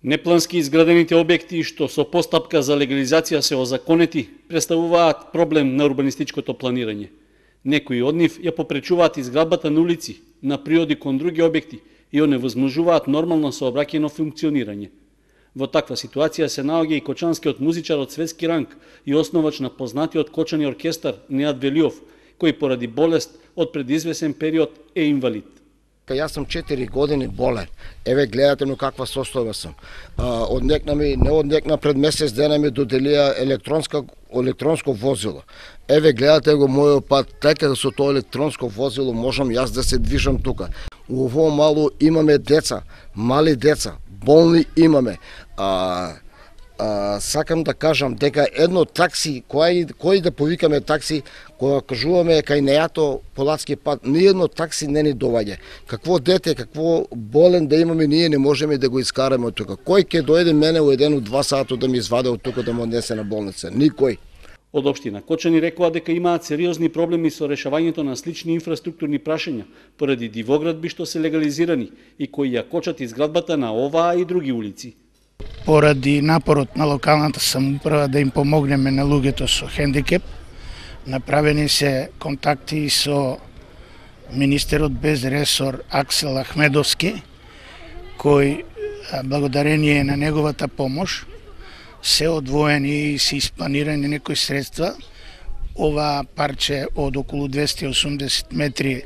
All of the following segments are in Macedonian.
Неплански изградените објекти што со постапка за легализација се озаконети представуваат проблем на урбанистичкото планирање. Некои од нив ја попречуваат изградбата на улици, на приоди кон други објекти и оневозможуваат нормално сообраќајно функционирање. Во таква ситуација се наоѓа и кочанскиот музичар од светски ранг и основач на познатиот кочани оркестар Неат Велиов, кој поради болест од предизвесен период е инвалид. Јас сум 4 години болен. Еве гледате на каква состојба сум. Не однекна пред месец дена ми доделија електронско возило. Еве гледате го мојот пат, така со тоа електронско возило можам јас да се движам тука. У ово мало имаме деца, мали деца, болни имаме. Сакам да кажам дека едно такси, кој да повикаме такси, кога кажуваме кај нејато Полацки пат, ни едно такси не ни доваѓа. Какво дете, какво болен да имаме, ние не можеме да го искараме од тука. Кој ќе дојде мене у 1-2 сата да ми изваде од тука да му однесе на болница? Никој. Од општина Кочани рекоа дека имаат сериозни проблеми со решавањето на слични инфраструктурни прашања поради дивоградби што се легализирани и кои ја кочат изградбата на оваа и други улици. Поради напорот на локалната самоуправа да им помогнеме на луѓето со хендикеп, направени се контакти со министерот без ресор Аксел Ахмедовски, кој благодарение на неговата помош се одвоени и се испланирани некои средства. Ова парче од околу 280 метри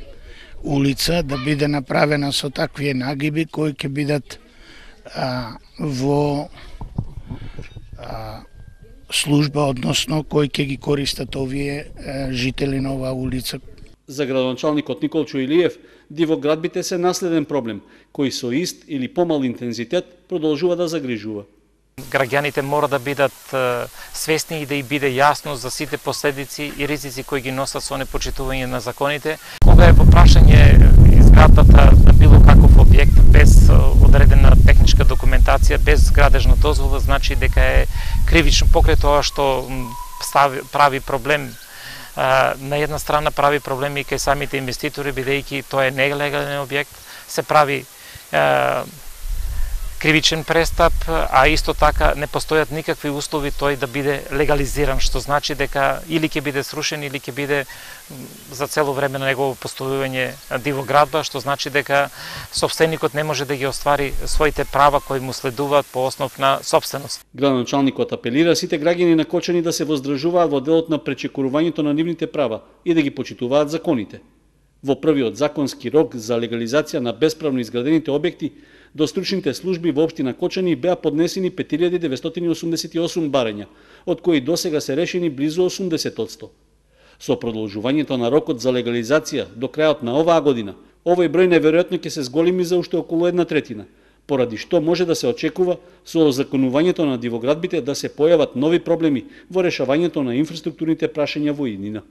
улица да биде направена со такви нагиби кои ќе бидат во служба, односно кои ќе ги користат овие жители на оваа улица. За градоначалникот Николчо Илиев, дивоградбите се наследен проблем, кој со ист или помал интензитет продолжува да загрижува. Граѓаните мора да бидат свесни и да и биде јасно за сите последици и ризици кои ги носат со непочитување на законите. Кога е во прашање изградбата на било каков објект без одредена техничка документација, без градежна дозвола, значи дека е кривично покрај тоа што прави проблем. На една страна прави проблеми и кај самите инвеститори, бидејќи тоа е нелегален објект, се прави кривичен престап, а исто така не постојат никакви услови тој да биде легализиран, што значи дека или ќе биде срушен, или ќе биде за цело време на негово постојување дивоградба, што значи дека собственикот не може да ги оствари своите права кои му следуваат по основ на собственост. Градоначалникот апелира сите граѓани на Кочани да се воздржуваат во делот на пречекорувањето на нивните права и да ги почитуваат законите. Во првиот законски рок за легализација на бесправно изградените објекти, до стручните служби во општина Кочани беа поднесени 5988 барања, од кои досега се решени близу 80%. Со продолжувањето на рокот за легализација до крајот на оваа година, овој број неверојатно ќе се зголеми за уште околу 1/3, поради што може да се очекува со озаконувањето на дивоградбите да се појават нови проблеми во решавањето на инфраструктурните прашања во иднина.